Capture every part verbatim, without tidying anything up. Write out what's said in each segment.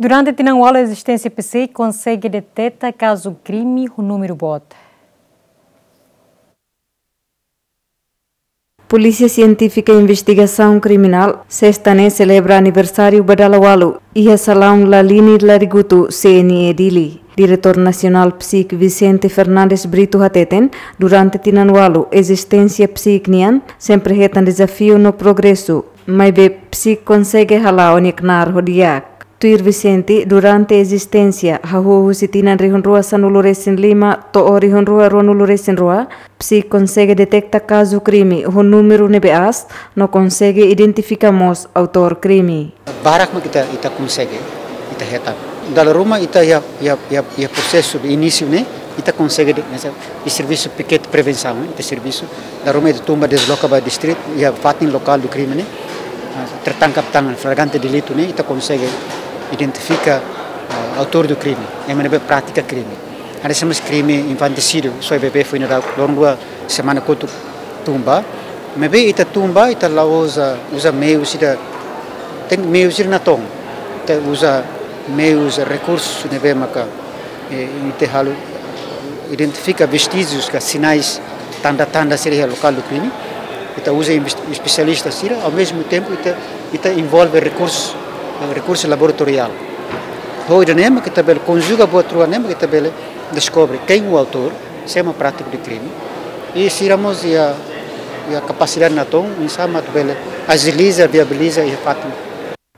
Durante tinan ualu ezisténsia PSIK konsege deteta kazu krime ho númeru boot. Polísia Sientífika Investigasaun Kriminál, sesta ne'e selebra aniversáriu ba dala ualu, iha Salaun Lalini Larigutu, C N E Dili. Diretór Nasionál PSIK Vicente Fernandes Brito hateten, durante tinan ualu ezisténsia PSIK nian, sempre hetan dezafiu no progresu, maibé PSIK konsege hala'o nia knaar ho di'ak. Tuir Vicente, durante ezisténsia, hahú husi tinan rihun rua sanulu resin lima to'o rihun rua ruanulu resin rua, PSIK konsege deteta kazu krime ho númeru ne'ebé aas, no konsege identifika mós autór krime. Barak mak ita, ita konsege, ita hetan. Dala ruma ita iha, iha, iha, iha prosesu de inísiu ne'e, ita konsege de, nesa, iha servisu pikete prevensaun, ita servisu. Dala ruma ita tun ba dezloka ba distritu, iha fatin lokál do crime ne'e, ah, tertangkap tangan, flagrante delitu ne'e, ita konsege identifika, ah, autór do crime, ema ne'ebé pratika krime. Hanesan mós krime infantisídiu, soe bebé foin-dadauk loron rua semana kotuk tun ba. Maibé ita tun ba, ita la uza, uza meius ida, ten meius ida natoon. Ita uza meius, rekursu ne'ebé maka, eh, ita halo, identifika vestíjius ka sinais, tanda-tanda sira iha lokál do crime. Ita uza inves-, espesialista sira, ao mesmo tempo ita, ita envolve rekursu, eh, rekursu laboratoriál. Ho ida-ne'e mak ita bele konjuga buat rua ne'e mak ita bele deskobre quem o autor, sé mak prátiku de crime, i sira mós iha, iha kapasidade natoon, oinsá mak atu bele ajiliza, viabiliza iha fatin.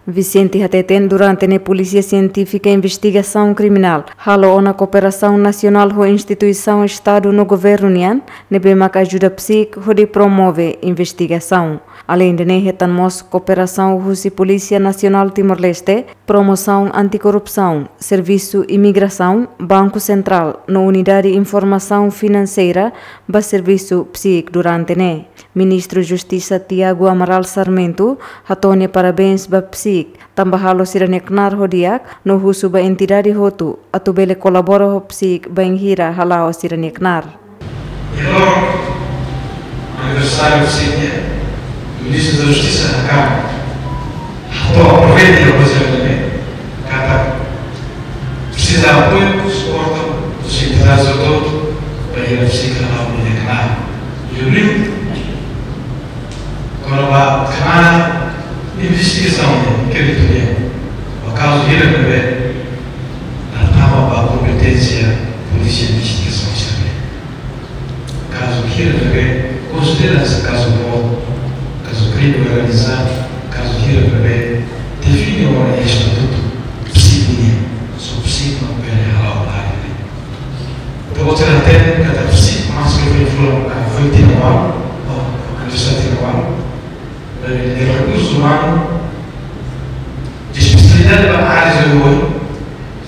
Vicente hateten durante ne'e Polísia Sientífika Investigasaun Kriminál halo ona kooperasaun nasionál ho instituisaun Estadu no governu nian, ne'ebé maka ajuda PSIK hodi promove investigasaun. Aleinde ne'e hetan mós kooperasaun husi Polísia Nasionál Timor-Leste, promosaun antikorrupsaun, servisu imigrasaun, Banku Sentrál, no unidade informasaun finanseira ba servisu PSIK durante ne'e. Ministru Justisa Tiago Amaral Sarmento hato'o nia parabéns ba PSIK, tanba halo sira-nia knaar ho di'ak, no husu ba entidade hotu atu bele kolabora ho PSIK bainhira hala'o sira-nia knaar. Iha loron aniversáriu sira-nia, Ministru da Justisa hakarak atu aproveita iha okasiaun ne'e katak presiza apoiu, suportu dos entidades autónomas para ir a psíkica na unidade canal. E o livro, quando vai canal, investigasaun, inquérito, o caso vira bebé, na tama ba kompeténsia Polísia Investigasaun Sivil. Kazu hira bebé, konsidera kazu boot, kazu krime organizadu, kazu hira bebé, define ona iha estatutu PSIK nian, só PSIK mak bele hala'o área ne'e. Entaun, ita hatene katak PSIK, maske foin fula, ah, foin tinan ualu, ou, aniversáriu tinan ualu, eh, de rekursu umanu, de espesialidade ba área de oioin,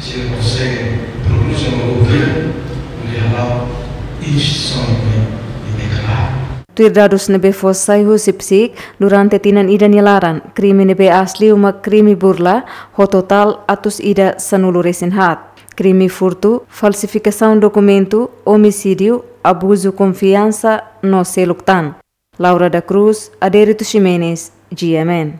sira konsege produz uma governo, hodi hala'o instituisaun ne'ebé deklaradu. Tuir dadus ne'ebé fó sai husi PSIK, durante tinan ida nia laran, krime ne'ebé aas liu mak krime burla, ho totál atus ida sanulu resin haat. Krime furtu, falsifikasaun dokumentu, omisídiu, abuzu konfiansa, no seluk tan. Laura da Cruz, Adérito Ximenes, G M N.